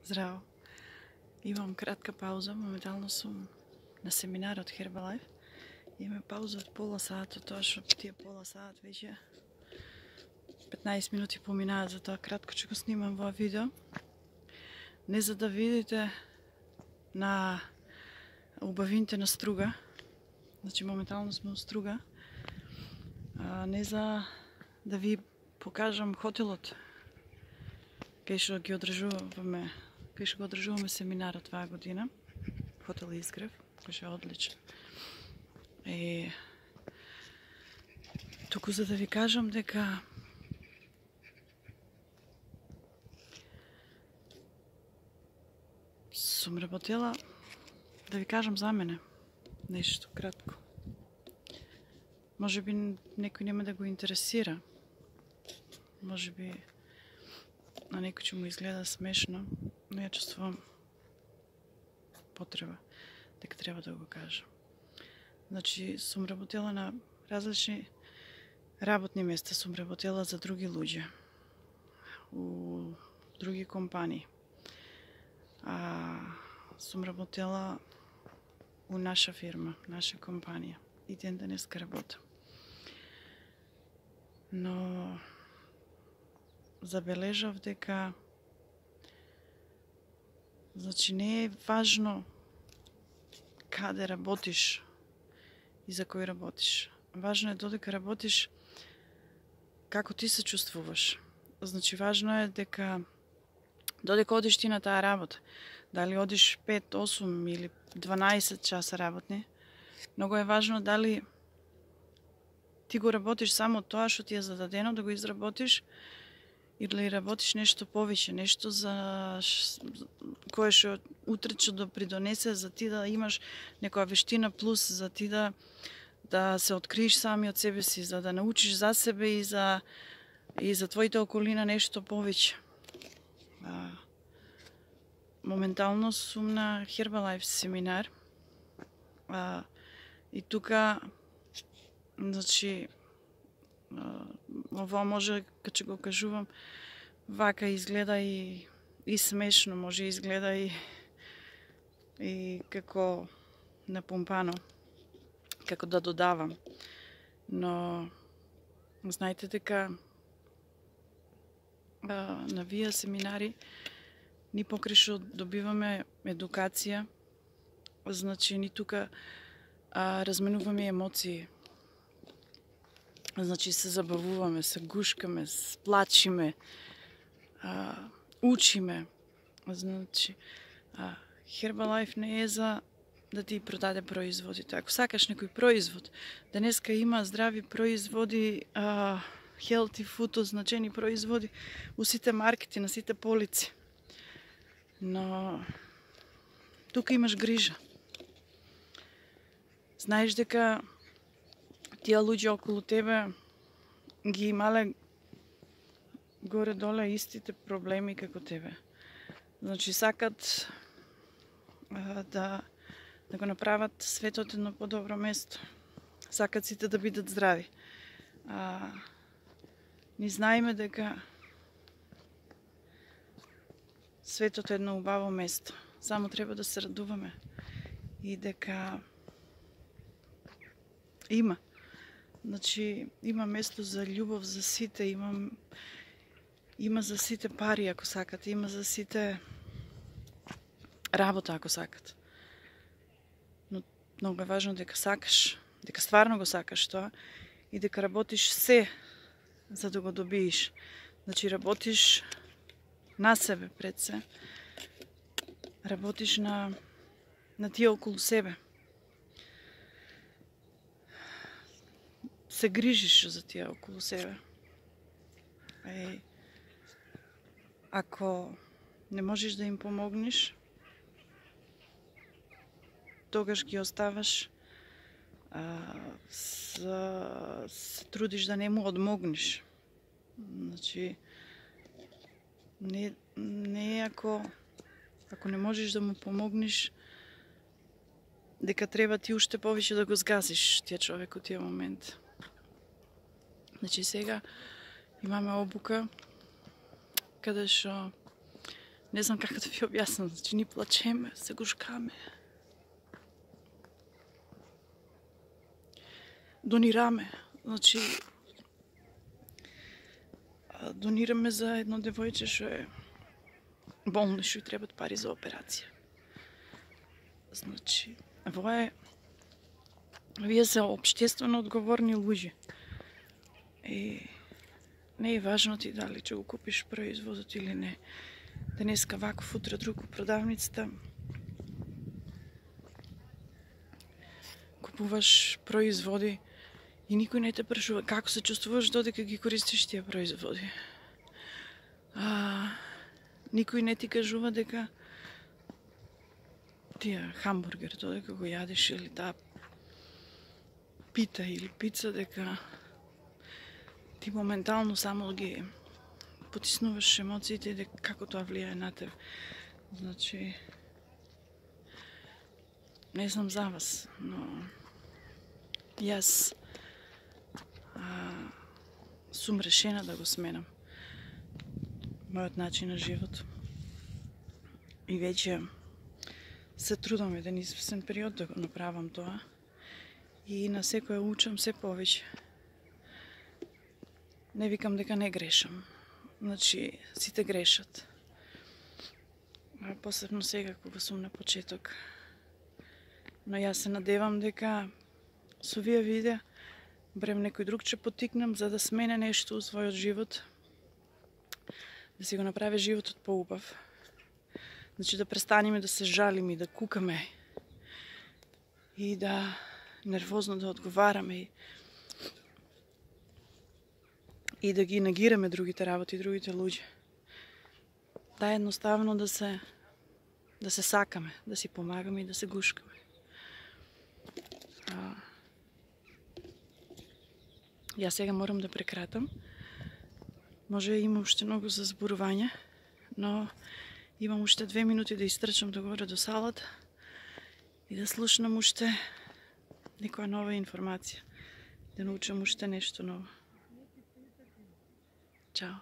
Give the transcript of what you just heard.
Здраво. Имам кратка пауза, моментално сум на семинар од Herbalife. Имаме пауза од пола сат, тоа што тие пола сат веќе 15 минути поминаат, за тоа кратко ќе го снимам во видео. Не за да видите на убавините на Струга, значи моментално сме во Струга, не за да ви покажам хотелот кај што ги одржуваме, кај што го одржуваме семинарот оваа година, хотел Изгрев, кој што е одличен. Туку за да ви кажам дека сум работела, да ви кажам за мене нешто кратко. Може би некој нема да го интересира, може би на некој ќе му изгледа смешно, но ја чувствувам потреба дека треба да го кажам. Значи, сум работела на различни работни места, сум работела за други луѓе, у други компании. Сум работела у наша фирма, наша компанија. И ден денеска работам. Но забележав дека значи не е важно каде работиш и за кој работиш. Важно е додека работиш како ти се чувствуваш. Значи важно е дека додека одиш ти на таа работа, дали одиш 5, 8 или 12 часа работни, многу е важно дали ти го работиш само тоа што ти е зададено да го изработиш или работиш нешто повеќе, нешто за кое што утре ќе допридонесе за ти да имаш некоја вештина плюс, за ти да се откриеш сами од себе си, за да научиш за себе и за твоите околина нешто повеќе. Моментално сум на Herbalife семинар и тука значи ова може, кога го кажувам, вака изгледа и смешно, може изгледа и како напомпано, како да додавам. Но знаете дека на вие семинари ни покрај што добиваме едукација, значи ни тука разменуваме емоции. Значи се забавуваме, се гушкаме, плачиме, учиме. Значи Herbalife не е за да ти продаде производите. Ако сакаш некој производ, денеска има здрави производи, healthy food, означени производи у сите маркети, на сите полици. Но тука имаш грижа. Знаеш дека тие луѓе околу тебе ги имале горе-доле истите проблеми како тебе. Значи сакат да го направат светот едно подобро место. Сакат сите да бидат здрави. Ни знаеме дека светот е едно убаво место. Само треба да се радуваме и дека има. Значи, има место за љубов за сите, има за сите пари ако сакат, има за сите работа ако сакат. Но многу е важно дека сакаш, дека стварно го сакаш тоа и дека работиш се за да го добиеш. Значи, работиш на себе пред се, работиш на тие околу себе. Се грижиш за тие околу себе. Ако не можеш да им помогнеш, тогаш ги оставаш, се трудиш да не му одмогнеш. Значи, не ако не можеш да му помогнеш, дека треба ти уште повеќе да го згасиш тие човек у тие момент. Значи сега имаме обука каде што Не знам како да ви објаснам, значи ни плачеме, се гушкаме. Донираме, значи донираме за едно девојче што е болно, што и требат пари за операција. Значи, вие се општествено одговорни луѓе. И не е важно ти дали ќе го купиш производот или не. Денеска ваков, утре друг у продавницата. Купуваш производи и никој не те прашува како се чувствуваш додека ги користиш тие производи. Никој не ти кажува дека тие хамбургер додека го јадеш или таа пита или пица дека ти моментално само ги потиснуваш емоциите и дека како тоа влијае на тебе. Значи, не знам за вас, но јас сум решена да го сменам мојот начин на живот. И веќе се трудам еден известен период да го направам тоа. И на секоја учам се повеќе. Не викам дека не грешам. Значи, сите грешат. Посебно сега кога сум на почеток. Но јас се надевам дека со вие видеа барем некој друг ќе потикнам за да смене нешто у својот живот. Да си го направи животот поубав. Значи да престанеме да се жалиме и да кукаме и да нервозно да одговараме и да ги негираме другите работи, другите луѓе. Да едноставно да се сакаме, да си помагаме и да се гушкаме. Јас сега морам да прекратам. Може имам уште многу за зборување, но имам уште 2 минути да истрчам догоре до салата и да слушнам уште некоја нова информација, да научам уште нешто ново. Чао!